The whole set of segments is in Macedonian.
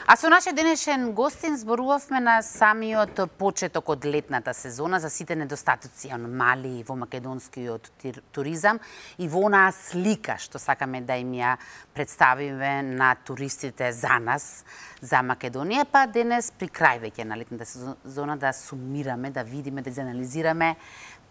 А со нашиот денешен гостин зборувавме на самиот почеток од летната сезона за сите недостатоци и аномалии во македонскиот туризам и во онаа слика што сакаме да им ја представиме на туристите за нас, за Македонија, па денес при крај веќе на летната сезона да сумираме, да видиме, да анализираме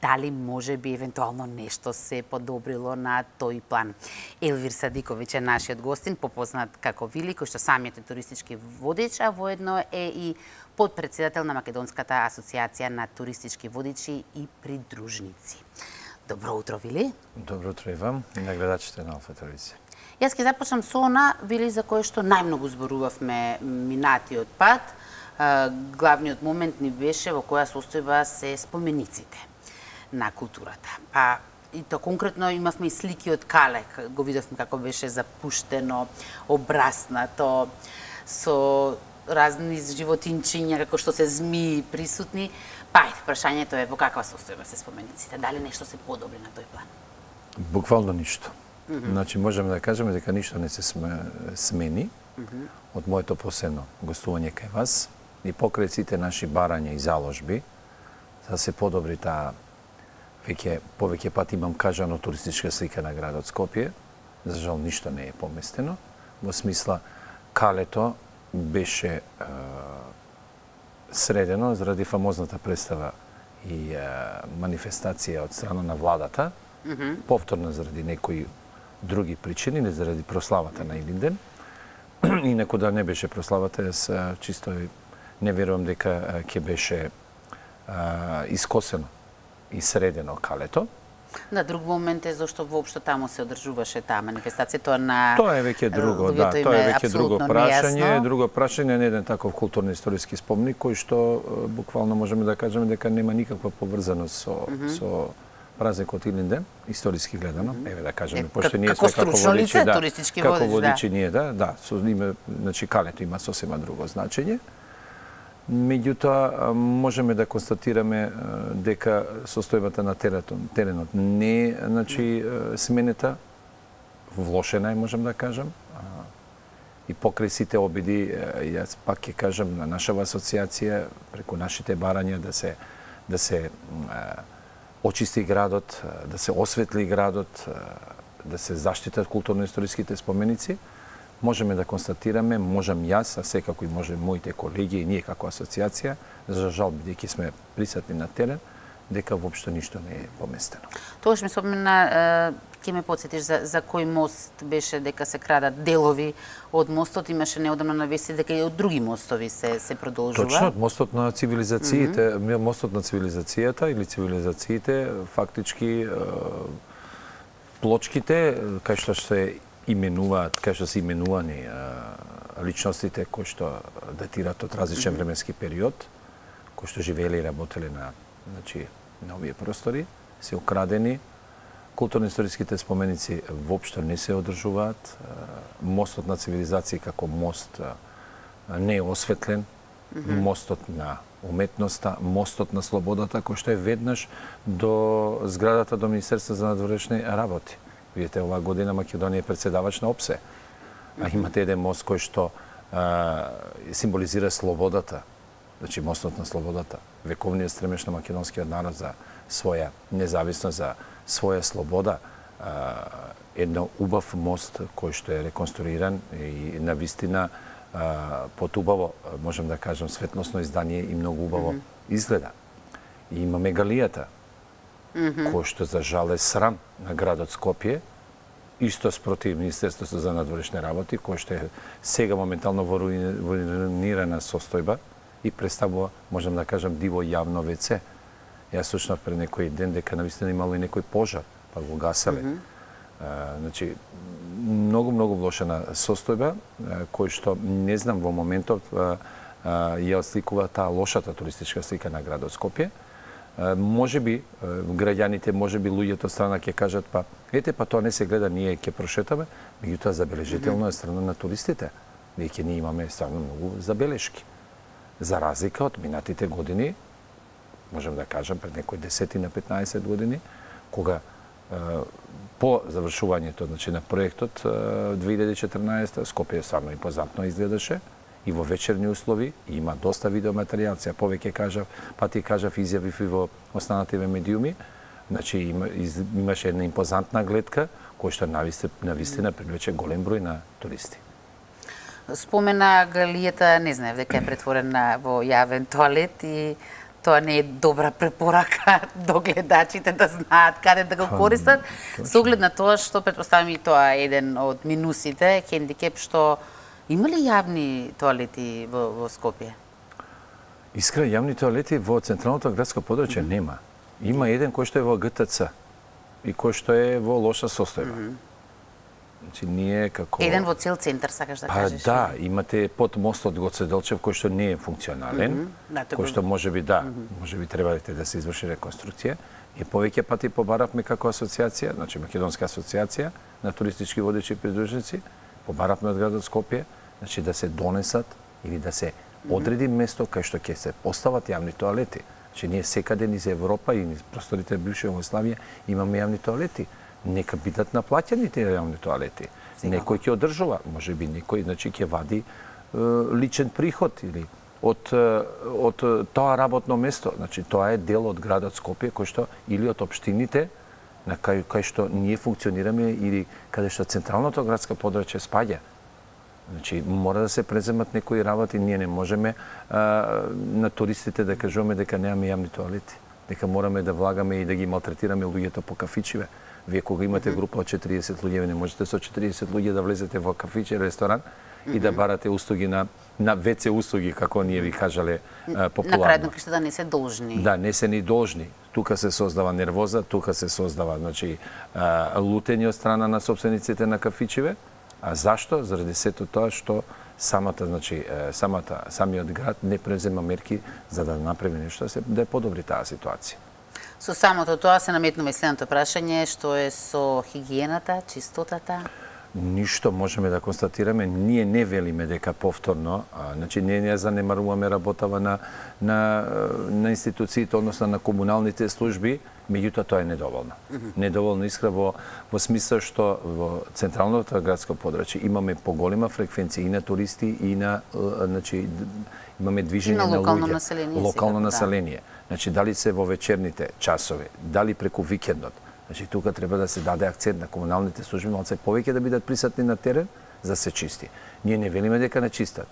дали може би евентуално нешто се подобрило на тој план. Елвир Садиковиќ е нашиот гостин, попознат како Вили, кој што самиот е туристички водич, а воедно е и подпредседател на Македонската асоциација на туристички водичи и придружници. Добро утро, Вили. Добро утро и вам и на гледачите на Алфа телевизија. Јас ќе започнам со она, Вили, за кој што најмногу зборувавме минатиот пат. Главниот момент ни беше во која состојба се спомениците на културата. Па и то конкретно имавме и слики од Кале, го видовме како беше запуштено, обраснато, со разни животинчиња, како што се змии присутни. Па, прашањето е во каква состојба се спомениците, дали нешто се подобри на тој план? Буквално ништо. Значи, можеме да кажеме дека ништо не се смени од моето последно гостување кај вас и покрај сите наши барања и заложби, за да се подобри таа повеќе пати имам кажано туристичка слика на градот Скопје. За жал ништо не е поместено. Во смисла, Калето беше средено заради фамозната представа и манифестација од страна на владата, повторно заради некои други причини, не заради прославата на Илинден. Инаку да не беше прославата, јас чисто не верувам дека ќе беше искосено и средено Калето. Да, друг момент е зашто воопшто таму се одржуваше таа манифестација, тоа е веќе друго, да, тоа е веќе друго прашање, на еден таков културно-историски спомник кој што буквално можеме да кажеме дека нема никаква поврзаност со празникот Илинден, историски гледано, еве да кажеме, пошто ние сме како водичи, туристички како водичи ние, да, со име, значи Калето има сосема друго значење. Меѓутоа, можеме да констатираме дека состојбата на теренот не е сменета, влошена е, можем да кажам. И покрај сите обиди, јас пак ќе кажам на нашава асоциација, преку нашите барања да се очисти градот, да се осветли градот, да се заштитат културно-историските споменици, можеме да констатираме, можам јас, а секако и може моите колеги и ние како асоциација, за жал бидејќи сме присутни на терен, дека воопшто ништо не е поместено. Тогаш ми спомена, ќе ме потсетиш за кој мост беше дека се крадат делови од мостот, имаше неодамна навести дека и од други мостови се продолжува. Точно, мостот на цивилизациите, мостот на цивилизацијата или цивилизациите, фактички плочките кај што се именуваат, кај што се именувани личностите кои што датираат од различен временски период, кои што живееле и работеле на овие простори, се украдени. Културно-историските споменици воопшто не се одржуваат. Мостот на цивилизација како мост не е осветлен. Мостот на уметноста, мостот на слободата, кој што е веднаш до зградата до Министерство за надворешни работи. Видите, оваа година Македонија е председавач на ОПСЕ. А имате еден мост кој што символизира слободата, значи мостот на слободата, вековниот стремеж на македонскиот народ за своја независност, за своја слобода, едно убав мост кој што е реконструиран и навистина под убаво, можем да кажем, светлосно издание и многу убаво изгледа. И имаме галијата, кој што за жал е срам на градот Скопје, исто спротив Министерството за надворешни работи, кој што е сега моментално во руинирана состојба и представува, можем да кажем, диво јавно ВЦ. Јас слушнав пред некој ден дека навистина имало и некој пожар, па го гаселе. Значи, многу влошена состојба, кој што не знам во моментот ја отсликува таа лошата туристичка слика на градот Скопје. Може би граѓаните, може би луѓето страна ќе кажат па тоа не се гледа, ние ќе прошетаме, меѓутоа забележително е страна на туристите. Веќе ние имаме стварно многу забелешки. За разлика од минатите години, можем да кажам пред некои 10 на 15 години, кога по завршувањето на проектот 2014 Скопје стварно импозантно изгледаше и во вечерни услови, и има доста видеоматеријал, сега повеќе кажав, па ти кажав, изјавив и во останатите медиуми, значи имаше една импозантна гледка, која што навистина привлече голем број на туристи. Спомена галијата, не знаев дека е претворена во јавен тоалет и тоа не е добра препорака до гледачите да знаат каде да го користат. Со оглед на тоа што претпоставам и тоа е еден од минусите, хендикеп што има ли јавни тоалети во Скопје? Искрено, јавни тоалети во централното градско подрачје нема. Има еден кој што е во ГТЦ и кој што е во лоша состојба. Значи ние како еден во цел центар сакаш да кажеш? Да, имате под мостот Гоце Делчев кој што не е функционален, кој што можеби требалите да се изврши реконструкција. И повеќе пати побаравме како асоциација, значи Македонска асоциација на туристички водачи и придружници, побаравме од градот Скопје, значи да се донесат или да се одреди место кај што ќе се постават јавни тоалети. Значи ние секаде низ Европа и низ просторите бивша Југославија имаме јавни тоалети. Нека бидат наплаќани тие јавни тоалети. Некој ќе одржува, можеби некој значи ќе вади личен приход или од тоа работно место. Значи тоа е дел од градот Скопје кој што или од општините на кај што ние функционираме или каде што централното градско подрачје спаѓа. Значи мора да се преземат некои работи, ние не можеме на туристите да кажуваме дека немаме јавни тоалети, дека мораме да влагаме и да ги малтретираме луѓето по кафичиве. Вие кога имате група од 40 луѓе, не можете со 40 луѓе да влезете во кафиче, ресторан и да барате услуги на ВЦ услуги, како ние ви кажале популарно. На крајот на да не се должни. Да, не се ни должни. Тука се создава нервоза, тука се создава значи лутење од страна на собствениците на кафичеве. А зашто? Заради сето тоа што самиот град не презема мерки за да направи нешто да е подобри таа ситуација. Со самото тоа се наметнува и следното прашање, што е со хигиената, чистотата? Ништо можеме да констатираме, ние не велиме дека повторно, значи ние не занемаруваме работава на институциите, односно на комуналните служби, меѓутоа тоа е недоволно. Недоволно искра во смисла што во централното градско подрачје имаме поголема фреквенција и на туристи и на значи имаме движење на луѓе, локално население. Значи дали се во вечерните часови, дали преку викендот. Значи тука треба да се даде акцент на комуналните служби малце повеќе да бидат присутни на терен за се чисти. Ние не велиме дека не чистат.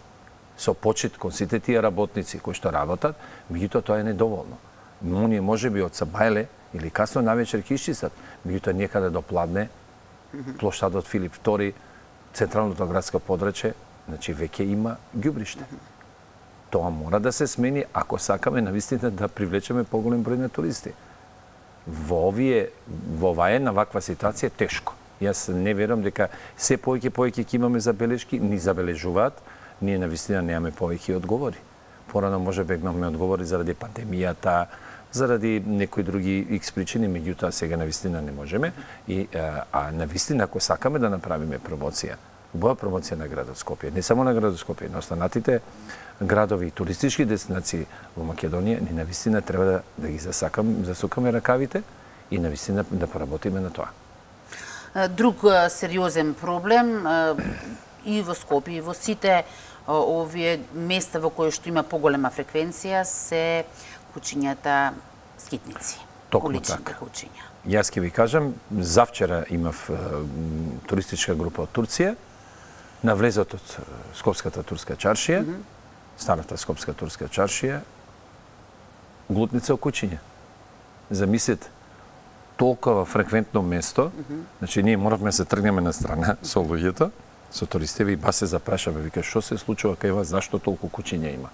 Со почит кон сите тие работници кои што работат, меѓутоа тоа е недоволно. Оние можеби од Сабајле или касно навечер ќе исчистат, меѓутоа некаде до Пладне, плоштадот Филип II, централното градско подрачје, значи веќе има ѓубриште. Тоа мора да се смени ако сакаме навистина да привлечеме поголем број на туристи. Во оваа една ваква ситуација е тешко. Јас не верувам дека се повеќе ќе имаме забелешки, ни забележуваат, ние навистина немаме повеќе одговори. Порано може бегнавме одговори заради пандемијата, заради некои други икс причини, меѓутоа сега навистина не можеме а навистина ако сакаме да направиме промоција, убава промоција на градот Скопје, не само на градот Скопје, на останатите градови и туристички дестинации во Македонија, ни навистина треба да ги засукаме ракавите и навистина да поработиме на тоа. Друг сериозен проблем и во Скопје и во сите овие места во кои што има поголема фреквенција се кучињата скитници. Токму така. Јас ќе ви кажам, завчера имав туристичка група од Турција, на влезот од Скопската турска чаршија, старата Скопска турска чаршија, глутница окучиња. Замислете, толкова фреквентно место, значи ние моравме да се тргнеме на страна со луѓето, со туристите и бас се запрашаме, вика, што се случува кај вас, зашто толку кучиња има?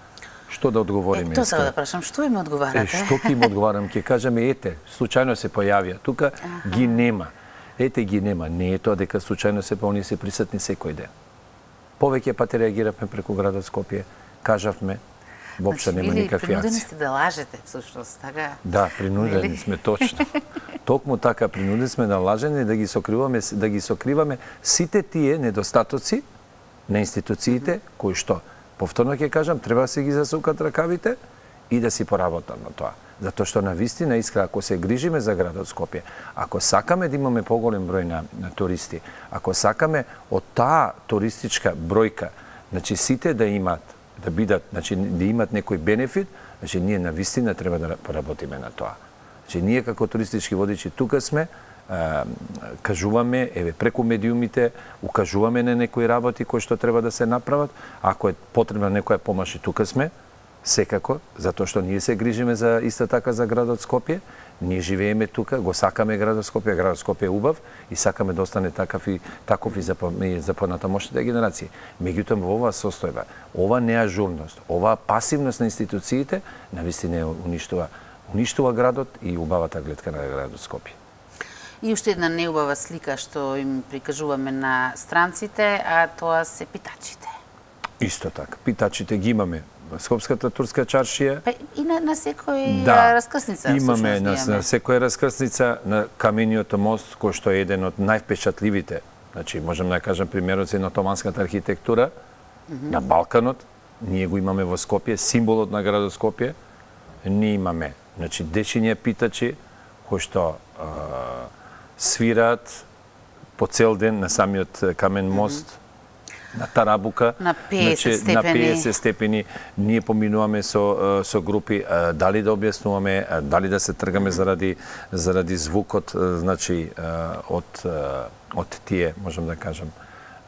Што да одговориме? Тоа сакам да прашам, што им одговарате? Што ќе им одговарам? Ќе кажеме, ете, случајно се појавија, тука ги нема. Ете ги нема, не е тоа дека случајно се оние се присутни секој ден. Повеќе пати реагиравме преку градот Скопје, кажавме, воопшто нема никакви акции. Принудени сте да лажете, всушност, така? Да, принудени сме, точно. Токму така, принудени сме да лажеме и да ги сокриваме сите тие недостатоци на институциите кои што, повторно ќе кажам, треба да се ги засукат ракавите и да си поработат на тоа. Затоа што навистина искра, ако се грижиме за градот Скопје, ако сакаме да имаме поголем број на туристи, ако сакаме од таа туристичка бројка, значи сите да имаат да бидат, значи да имат некој бенефит, значи ние навистина треба да поработиме на тоа. Значи ние како туристички водичи тука сме, кажуваме, еве преку медиумите, укажуваме на некои работи кои што треба да се направат, ако е потребна некоја помош и тука сме, секако, затоа што ние се грижиме за иста така за градот Скопје, ние живееме тука, го сакаме градот Скопје е убав и сакаме да остане таков и за понатамошните генерации. Меѓутоа во оваа состојба, ова неажурност, оваа пасивност на институциите навистина уништува градот и убавата гледка на градот Скопје. И уште една неубава слика што им прикажуваме на странците, а тоа се питачите. Исто така, питачите ги имаме. Скопската турска чаршија. Па и на секој раскрсница. Имаме на секоја раскрсница на камениот мост, кој што е еден од највпечатливите. Значи, можам да кажам примерот на отоманската архитектура на Балканот. Ние го имаме во Скопје, символот на градот Скопје. Ние имаме, значи, дечиња питачи кои што свираат по цел ден на самиот камен мост. На Тарабука, на 50 степени. На 50 степени ние поминуваме со групи, дали да објаснуваме, дали да се тргаме заради звукот, значи од тие, можам да кажам,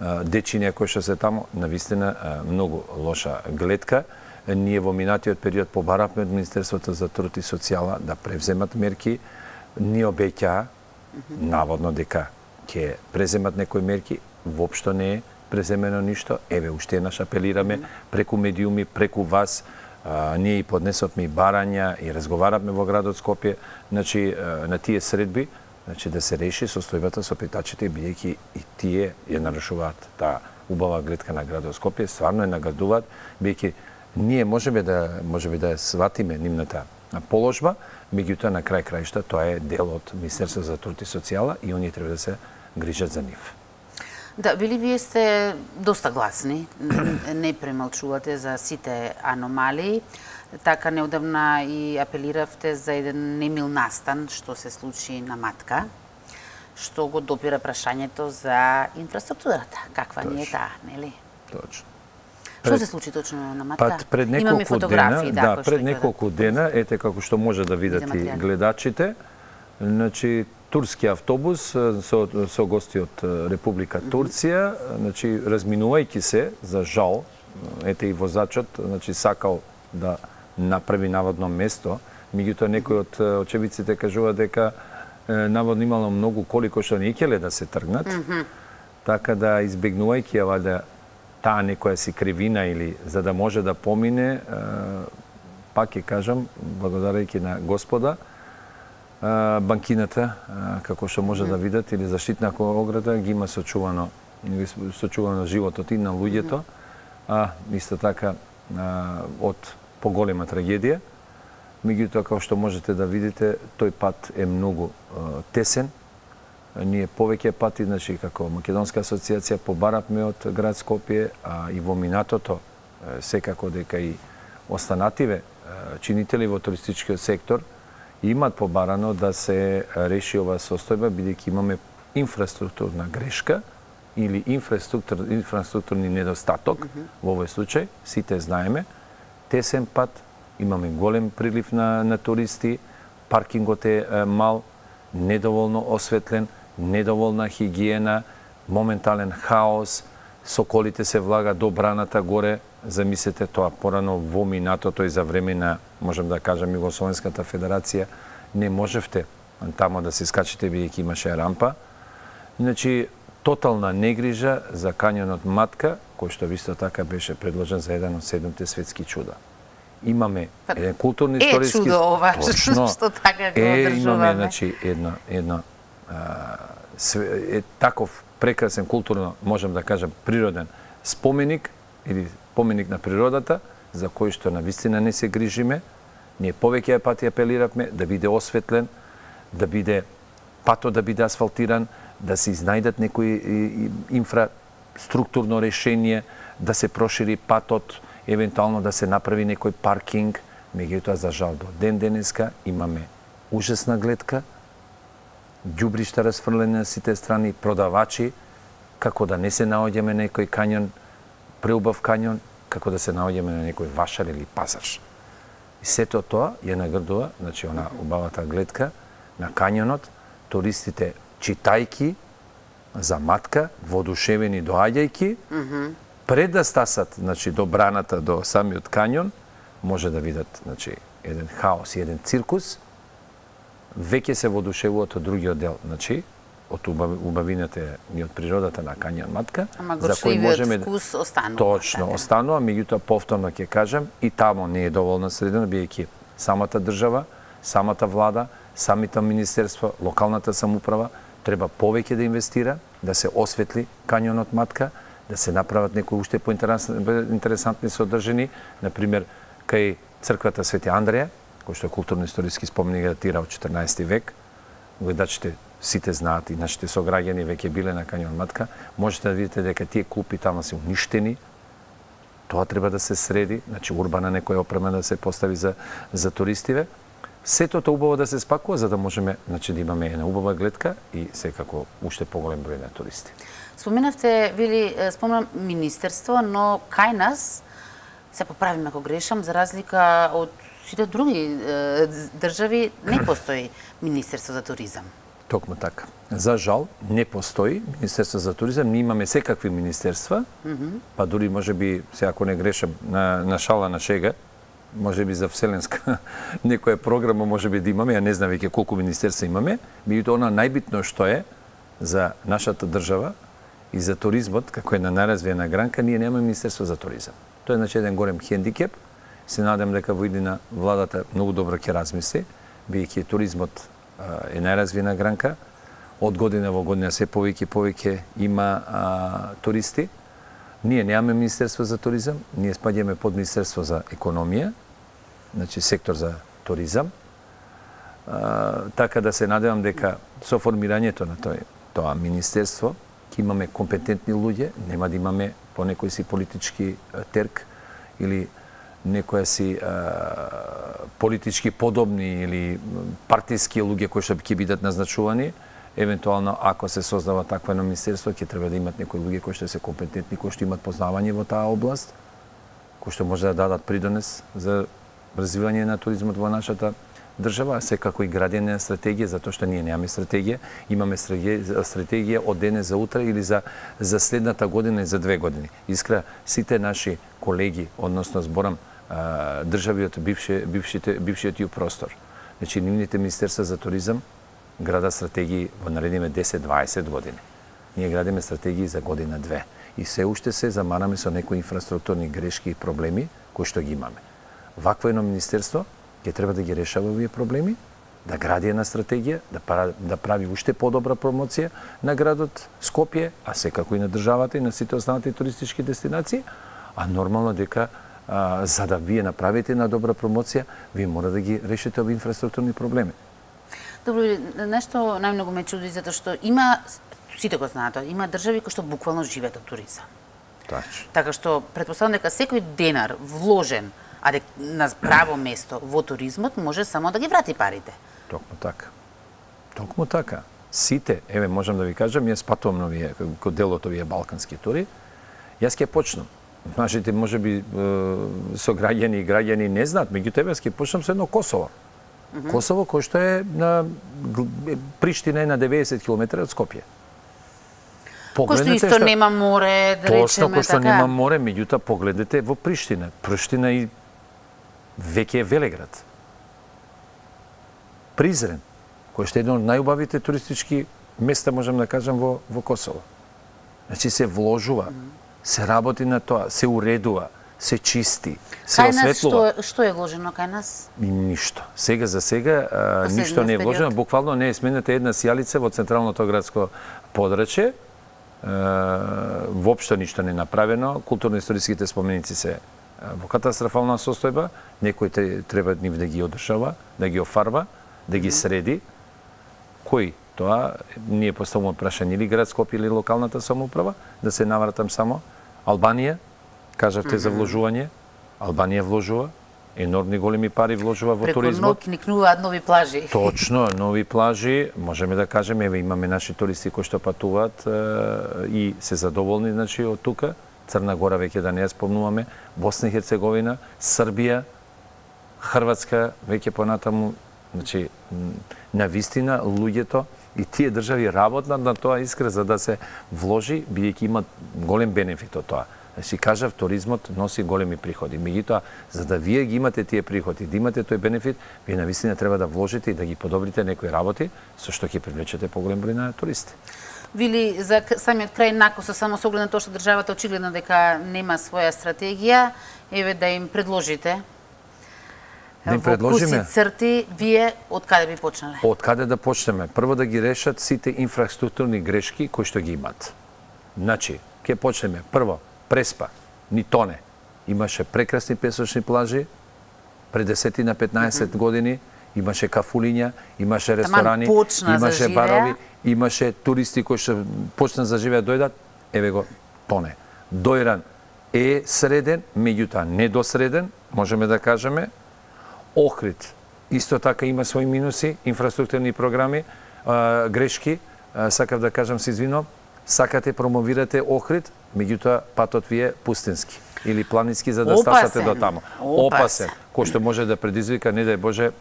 дечиња кои што се таму, навистина многу лоша гледка. Ние во минатиот период побаравме од Министерството за труд и социјала да превземат мерки. Ние обеќаа наводно дека ќе преземат некои мерки, воопшто не е преземено ништо. Еве, уште еднаш апелираме преку медиуми, преку вас. Ние и поднесовме и барања и разговаравме во градот Скопје, значи на тие средби, значи да се реши состојбата со питачите, бидејќи и тие ја нарушуваат таа убава гледка на градот Скопје, стварно ја нагадуваат, бидејќи ние можеме да сватиме нивната положба, меѓутоа на крај краишта тоа е дел од Министерството за труд и социјала и оние треба да се грижат за нив. Да, били вие сте доста гласни, не премалчувате за сите аномалии. Така неодамна и апелиравте за еден немил настан што се случи на Матка, што го допира прашањето за инфраструктурата. Каква ни е таа, нели? Точно. Што се случи точно на Матка? Пред неколку дена, пред неколку дена, ете како што може да видат и гледачите, значи турски автобус со гости од Република Турција, значи разминувајќи се, за жал, ете и возачот, значи сакал да направи наводно место, меѓутоа некој од очевидците кажува дека наводно имало многу коли кои што не икеле да се тргнат, така да избегнувајќи ја валјда таа некоја си кривина или за да може да помине, пак ќе кажам, благодарејќи на Господа, банкината, како што може да видат, или заштитна ограда, ги има сочувано животот и на луѓето, а исто така од поголема трагедија. Меѓутоа, како што можете да видите, тој пат е многу тесен. Ние повеќе пати, значи, како Македонска асоциација, побаравме од град Скопје, а и во минатото, секако дека и останативе чинители во туристичкиот сектор имат побарано да се реши оваа состојба, бидејќи имаме инфраструктурна грешка или инфраструктурни недостаток, во овој случај, сите знаеме, тесен пат, имаме голем прилив на туристи, паркингот е мал, недоволно осветлен, недоволна хигиена, моментален хаос, соколите се влага до браната горе, замислете тоа порано во минатото и за време на, можем да кажам, Југословенската федерација, не можевте тамо да се скачите бидејќи имаше рампа. Значи, тотална негрижа за кањонот Матка, кој што исто така беше предложен за еден од 7 светски чуда. Имаме еден културни историски... чудо ова, што така го одржуваме. Имаме, значи, таков прекрасен културно, можем да кажам, природен споменик или споменик на природата, за кој што навистина не се грижиме. Ние повеќе пати апелиравме да биде осветлен, да биде патот да биде асфалтиран, да се изнајдат некои инфраструктурно решение, да се прошири патот, евентуално да се направи некој паркинг. Меѓутоа, за жал, до ден денеска имаме ужасна гледка, ѓубришта расфрлени на сите страни, продавачи, како да не се наоѓаме некој кањон, преубав кањон, како да се наоѓаме на некој вашар или пазар. И сето тоа ја наградува, значи она убавата гледка на кањонот, туристите читајки за матка, воодушевени доаѓајки, пред да стасат, значи до браната, до самиот кањон, може да видат, значи еден хаос и еден циркус, веќе се воодушевуваат од другиот дел, значи од убавината и од природата на кањон Матка, за кој можеме вкус останува. Точно, останува, меѓутоа повторно ќе кажам, и тамо не е доволна средина, биејќи самата држава, самата влада, самите министерства, локалната самоуправа треба повеќе да инвестира, да се осветли кањонот Матка, да се направат некои уште поинтересантни содржини, например кај црквата Свети Андреја, кој што е културно-историски споменик, датира од 14 век, гледачите сите знаат и нашите сограѓани веќе биле на кањон Матка, можете да видите дека тие клупи тама се уништени. Тоа треба да се среди, значи урбана некоја опрема да се постави за туристиве. Сето тоа убаво да се спакува за да можеме, значи да имаме една убава гледка и секако уште поголем број на туристи. Споменавте, спомнам министерство, но кај нас, се поправим ако грешам, за разлика од сите други држави, не постои Министерство за туризам. Токму така. За жал, не постои Министерство за туризам. Ние имаме секакви министерства, па дури можеби, се ако не грешам, на шала на шега, можеби за вселенска некоја програма можеби да имаме, ја не знам веќе колку министерства имаме, меѓутоа она најбитно што е за нашата држава и за туризмот, како една најразвиена гранка, ние немаме Министерство за туризам. Тоа е значи еден голем хендикеп. Се надам дека во иднина владата многу добро ќе размисли, биејќи туризмот е најразвиена гранка. Од година во година се повеќе има туристи. Ние немаме Министерство за туризам, ние спаѓаме под Министерство за економија, значи сектор за туризам. Така да се надевам дека со формирањето на тоа министерство ќе имаме компетентни луѓе, нема да имаме по некој си политички терк или некоја си политички подобни или партиски луѓе кои што ќе бидат назначувани. Евентуално, ако се создава такво едно министерство, ќе треба да имат некои луѓе кои што се компетентни, кои што имат познавање во таа област, кои што може да дадат придонес за развивање на туризмот во нашата држава, секако и градење на стратегија, затоа што ние немаме стратегија, имаме стратегија од денес за утре или за следната година и за 2 години. Искра, сите наши колеги, односно зборам држави од бившиот ју простор, значи нивните министерства за туризам града стратегии во наредните 10-20 години. Ние градиме стратегии за година-2 и се уште се замараме со некои инфраструктурни грешки и проблеми кои што ги имаме. Вакво едно министерство ќе треба да ги решава овие проблеми, да гради една стратегија, да прави уште подобра промоција на градот Скопје, а секако и на државата и на сите останати туристички дестинации, а нормално дека за да вие направите една добра промоција, вие мора да ги решите овие инфраструктурни проблеми. Добро, нешто најмногу ме чуди, затоа што има, сите го знаат, има држави кои што буквално живеат од туризам. Точно. Така што претпоставам дека секој денар вложен на право место во туризмот може само да ги врати парите. Токму така. Токму така. Сите, еве можам да ви кажам, јас патувам на овие дел од овие балкански тури. Јас ќе почнам. Нашите можеби сограѓани и граѓани не знаат, меѓутоа јас ќе почнам со едно Косово. Косово кој што е на Приштина е на 90 км од Скопје. Кој што исто нема море, да речеме така. Кој што нема море, меѓутоа погледнете во Приштина. Приштина и веќе е велеград. Призрен, кој што е едно од најубавите туристички места, можам да кажам, во Косово. Значи се вложува, се работи на тоа, се уредува, се чисти, се осветлува. Што е вложено кај нас? Ништо. Сега за сега ништо не е вложено. Буквално не е смената една сијалица во централното градско подрачје. Воопшто ништо не е направено. Културно-историските споменици се во катастрофална состојба. Некој треба нив да ги одржава, да ги офарба, да ги среди. Кој? Тоа ние поставуваме прашање или град Скопје или локалната самоуправа, да се навратам само. Албанија, кажавте за вложување, Албанија вложува, енормни големи пари вложува во туризмот. Преку никнуваат нови плажи. Точно, нови плажи, можеме да кажеме, еве имаме наши туристи кои што патуваат и се задоволни, значи од тука, Црна Гора веќе да не ја спомнуваме, Босна и Херцеговина, Србија, Хрватска веќе понатаму, значи на вистина луѓето и тие држави работат на тоа искра за да се вложи, бидејќи имат голем бенефит од тоа. Значи, кажав, туризмот носи големи приходи. Меѓутоа, за да вие ги имате тие приходи, да имате тој бенефит, вие навистина треба да вложите и да ги подобрите некои работи, со што ќе привлечете поголем број на туристи. Вили, за самиот крај накоса, само со оглед на тоа што државата очигледно дека нема своја стратегија, еве да им предложите. Да им предложиме? Во куси црти, вие од каде би почнале? Од каде да почнеме? Прво да ги решат сите инфраструктурни грешки кои што ги имат. Значи, ќе почнеме прво Преспа, ни тоне. Имаше прекрасни песочни плажи пред 10 на 15 години, имаше кафулиња, имаше ресторани, имаше барови, имаше туристи кои што почна за живеа дојдат, еве го тоне. Дојран е среден, меѓутоа недосреден, можеме да кажеме. Охрид исто така има своји минуси, инфраструктурни програми, грешки, сакав да кажам, се извинувам, сакате промовирате Охрид, меѓутоа патот ви е пустински или планински за да стасате до таму. Опасен, кој што може да предизвика, не дај Боже,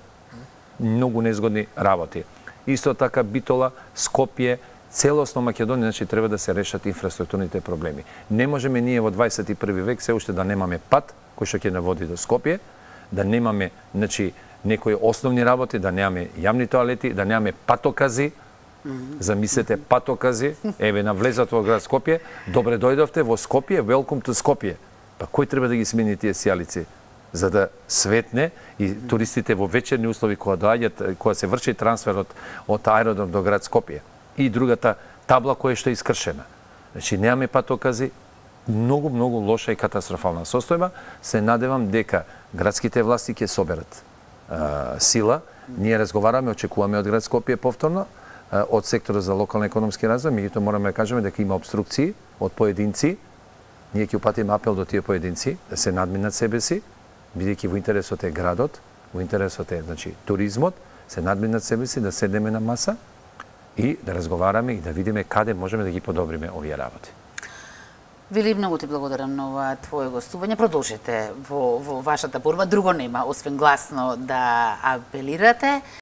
многу незгодни работи. Исто така Битола, Скопје, целосно Македонија, значи треба да се решат инфраструктурните проблеми. Не можеме ние во 21 век се уште да немаме пат кој што ќе наводи до Скопје, да немаме, значи, некои основни работи, да немаме јавни тоалети, да немаме патокази. Замислете патокази, еве навлезат во град Скопје, добре дојдовте во Скопје, welcome to Скопје. Па кој треба да ги смени тие сијалици за да светне и туристите во вечерни услови кога доаѓаат, кога се врши трансфер од аеродром до град Скопје. И другата табла која што е искршена. Значи немаме патокази, многу лоша и катастрофална состојба. Се надевам дека градските власти ќе соберат сила. Ние разговараме, очекуваме од град Скопје повторно, од секторот за локален економски развој, меѓутоа мораме да кажеме дека има обструкции од поединци. Ние ќе упатиме апел до тие поединци да се надминат себе си, бидејќи во интересот е градот, во интересот е, значи, туризмот, се надминат себе си, да седеме на маса и да разговараме и да видиме каде можеме да ги подобриме овие работи. Вили, многу ти благодарам на ова твое гостување. Продолжете во вашата борба, друго нема, освен гласно да апелирате.